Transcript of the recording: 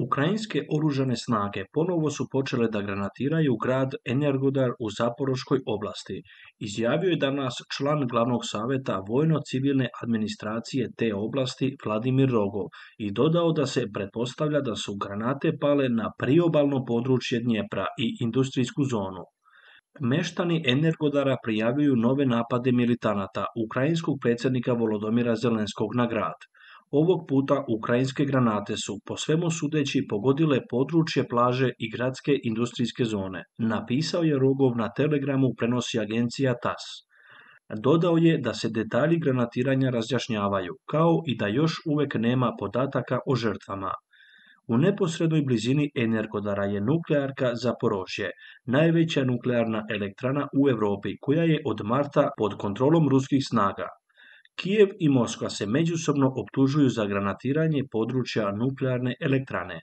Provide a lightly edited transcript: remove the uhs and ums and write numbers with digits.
Ukrajinske oružane snage ponovo su počele da granatiraju grad Energodar u Zaporoškoj oblasti, izjavio je danas član glavnog saveta vojno-civilne administracije te oblasti Vladimir Rogov i dodao da se pretpostavlja da su granate pale na priobalno područje Dnjepra i industrijsku zonu. Meštani Energodara prijavljuju nove napade militanata ukrajinskog predsjednika Volodomira Zelenskog na grad. Ovog puta ukrajinske granate su, po svemu sudeći, pogodile područje plaže i gradske industrijske zone, napisao je Rogov na Telegramu, prenosi agencija TASS. Dodao je da se detalji granatiranja razjašnjavaju, kao i da još uvijek nema podataka o žrtvama. U neposrednoj blizini Energodara je nuklearka Zaporožje, najveća nuklearna elektrana u Europi koja je od marta pod kontrolom ruskih snaga. Kijev i Moskva se međusobno optužuju za granatiranje područja nuklearne elektrane.